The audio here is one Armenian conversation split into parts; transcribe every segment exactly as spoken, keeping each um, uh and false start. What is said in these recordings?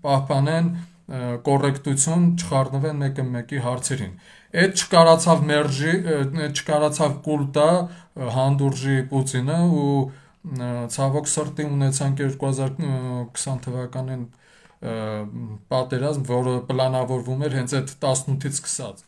պահպանեն կոռեկտություն, չխառնվեն մեկը մեկի հարցերին։ Այդ չկարացավ մերժի, չկարացավ կուլտա հանդուրժի Պուտինը ու ցավոք սրտի ունեցանք երկու հազար քսան թվականին պատերազմ, որը պլանավորվում էր հենց այդ տասնութից սկսած։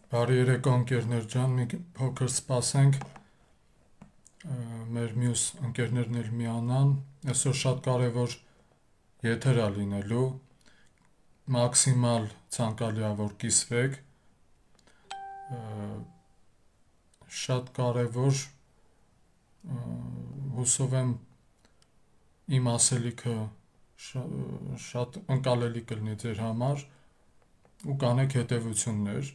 Բարի երեկո ընկերներ ջան, մի փոքր սպասենք մեր մյուս ընկերներն էլ միանան, այսօր շատ կարևոր եթեր է լինելու, մաքսիմալ ցանկալի է որ կիսվեք, շատ կարևոր, հուսով եմ իմ ասելիքը շատ ընկալելի կլինի ձեր համար ու կանեք հետևություններ։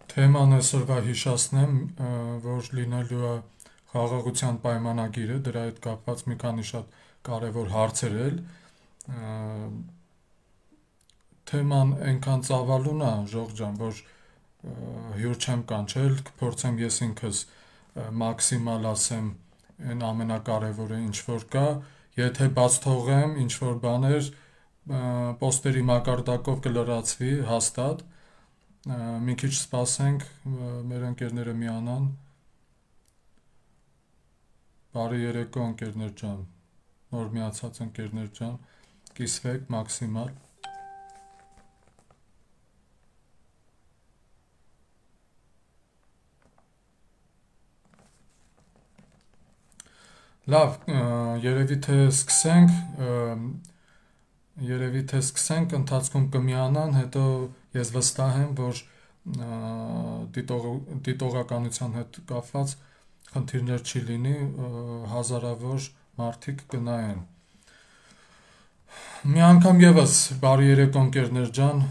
Թեման այսօրվա հիշացնեմ, որ լինելու է խաղաղության պայմանագիրը, դրա հետ կապված մի քանի շատ կարևոր հարցեր էլ, թեման այնքան ծավալուն է, Ժողովուրդ ջան, որ հյուր չեմ կանչել, կփորձեմ ես ինքս մաքսիմալ ասեմ այն ամենակարևորը ինչ որ կա, եթե բաց թողեմ ինչ որ բաներ, պոստերի մակարդակով կլրացվի հաստատ, մի քիչ սպասենք մեր ընկերները միանան։ Բարի երեկո ընկերներ ջան, նոր միացած ընկերներ ջան, կիսվեք մաքսիմալ։ Լավ, երևի թե սկսենք, երևի թե սկսենք, ընթացքում կմիանան, հետո ես վստահ եմ, որ դիտողականության հետ կապված խնդիրներ չի լինի, հազարավոր մարդիկ կնայեն։ Մի անգամ եւս բարի երեկո ընկերներ ջան,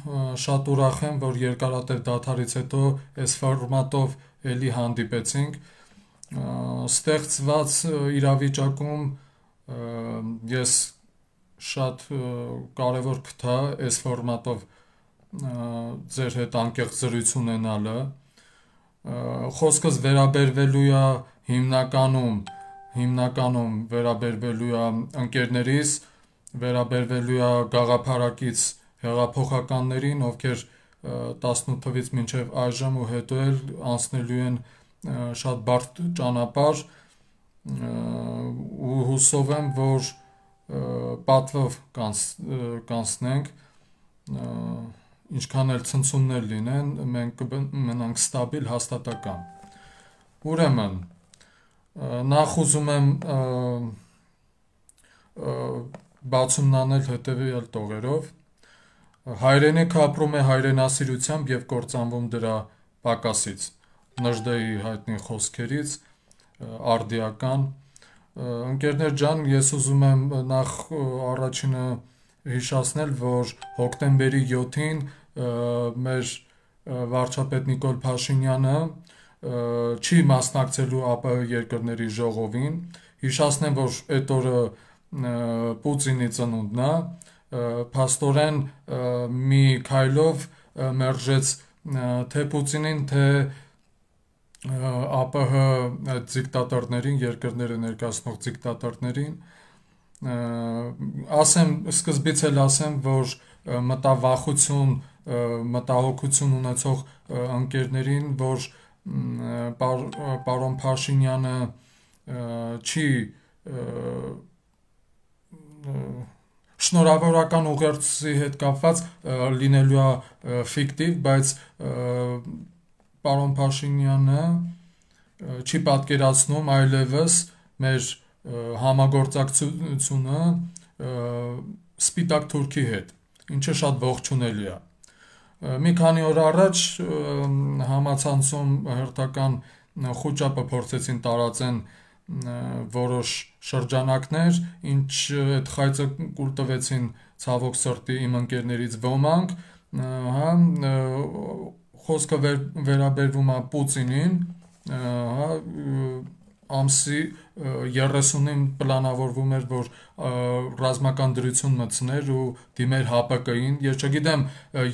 շատ ուրախ եմ, որ երկարատև դադարից հետո այս ֆորմատով էլի հանդիպեցինք, ստեղծված իրավիճակում ես շատ կարևոր կթա այս ֆորմատով ձեր հետ անկեղծ զրույց ունենալը, խոսքս վերաբերվելու է հիմնականում, հիմնականում վերաբերվելու է ընկերներիս, վերաբերվելու է գաղափարակից հեղափոխականներին, ովքեր տասնութ թվականից մինչև այժմ ու հետո էլ անցնելու են շատ բարդ ճանապարհ ու հուսով եմ, որ պատվով կանցնենք, ինչքան էլ ցնցումներ լինեն, մենք կմնանք ստաբիլ, հաստատակամ։ Ուրեմն, նախ ուզում եմ բացումն անել հետևյալ տողերով, հայրենիքը ապրում է հայրենասիրությամբ և կործանվում դրա պակասից, Նժդեի հայտնի խոսքերից, արդիական, ընկերներ ջան, ես ուզում եմ նախ առաջինը հիշացնել, որ հոկտեմբերի յոթին մեր վարչապետ Նիկոլ Փաշինյանը չի մասնակցելու ԱՊՀ երկրների ժողովին, հիշացնեմ, որ այդ օրը Պուտինի ծնունդն է, փաստորեն մի քայլով մերժեց թե Պուտինին, թե ԱՊՀ դիկտատորներին, երկրները ներկայացնող դիկտատորներին, ասեմ, սկզբից էլ ասեմ, որ մտավախություն, մտահոգություն ունեցող ընկերներին, որ պարոն Փաշինյանը չի շնորհավորական ուղերձի հետ կապված լինելու է ֆիկտիվ, բայց պարոն Փաշինյանը չի պատկերացնում այլևս մեր համագործակցությունը Սպիտակ Թուրքի հետ, ինչը շատ ողջունելի է։ Մի քանի օր առաջ համացանցում հերթական խուճապը փորձեցին տարածեն որոշ շրջանակներ, ինչ այդ խայծը կուլ տվեցին ցավոք սրտի իմ ընկերներից ոմանք, հա, խոսքը վերաբերվում է Պուտինին, հա, ամսի երեսունին պլանավորվում էր, որ ռազմական դրություն մտցներ ու դիմեր ՀԱՊԿ-ին, ես չգիտեմ,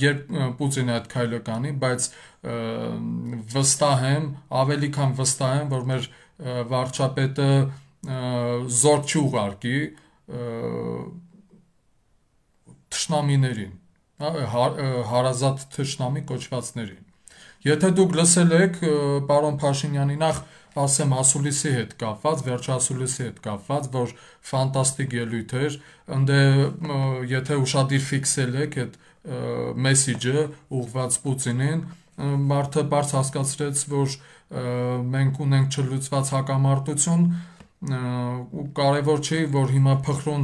երբ Պուտինը այդ քայլը կանի, բայց վստահ եմ, ավելի քան վստահ եմ, որ մեր վարչապետը զոր չի ուղարկի թշնամիներին, հարազատ թշնամի կոչվածներին։ Եթե դուք լսել եք պարոն Փաշինյանի, նախ ասեմ ասուլիսի հետ կապված, վերջասուլիսի հետ կապված, որ ֆանտաստիկ ելույթ էր, ընդ եթե ուշադիր ֆիքսել եք այդ մեսիջը ուղղված Պուտինին, մարդը բարձ հասկացրեց, որ մենք ունենք չլուծված հակամարտություն ու կարևոր չի, որ հիմա փխրուն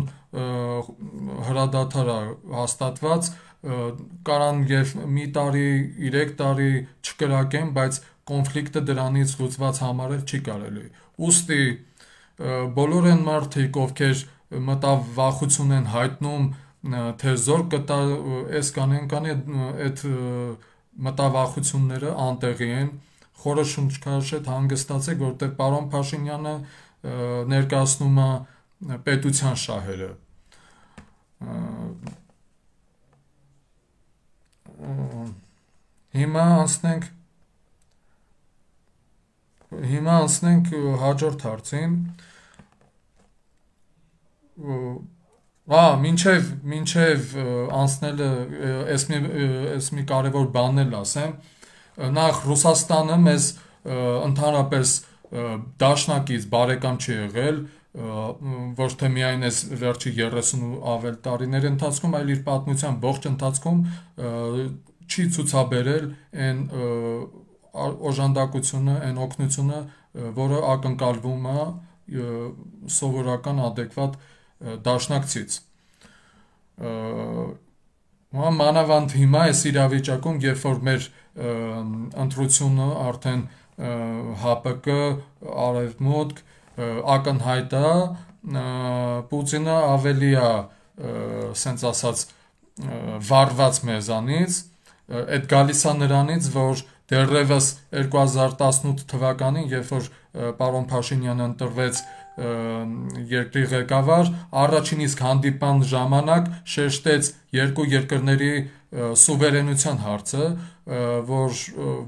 հրադադար է հաստատված, կարան եւ մի տարի, երեք տարի չկրակեն, բայց կոնֆլիկտը դրանից լուծված համարել չի կարելի։ Ուստի բոլոր այն մարդիկ, ովքեր մտավախություն են հայտնում, թե զոր կտա, այս կանեն կանի, այդ մտավախությունները անտեղի են, խորը շունչքաշետ հանգստացեք, որտեղ պարոն Փաշինյանը ներկայացնում է պետության շահերը։ Հիմա անցնենք Հիմա անցնենք հաջորդ հարցին։ Ա, մինչև մինչև անցնելը այս մի այս մի կարևոր բան էլ ասեմ, նախ Ռուսաստանը մեզ ընդհանրապես դաշնակից բարեկամ չի եղել, ոչ թե միայն այս վերջի երեսուն ու ավել տարիների ընթացքում, այլ իր պատմության ողջ ընթացքում չի ցուցաբերել այն օժանդակությունը, այն օգնությունը, որը ակնկալվում է սովորական adekvat դաշնակցից։ Մանավանդ հիմա այս իրավիճակում, երբ որ մեր ընտրությունը արդեն ՀԱՊԿ, Արևմուտք ակնհայտ է, Պուտինը ավելի է, սենց ասած, վարված մեզանից, այդ գալիս է նրանից, որ դեռևս երկու հազար տասնութ թվականին, երբ որ պարոն Փաշինյանը ընտրվեց երկրի ղեկավար, առաջին իսկ հանդիպման ժամանակ շեշտեց երկու երկրների սուվերենության հարցը, որ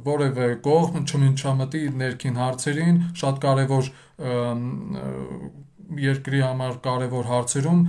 որևէ կողմ չմիջամտի ներքին հարցերին, շատ կարևոր երկրի համար կարևոր հարցերում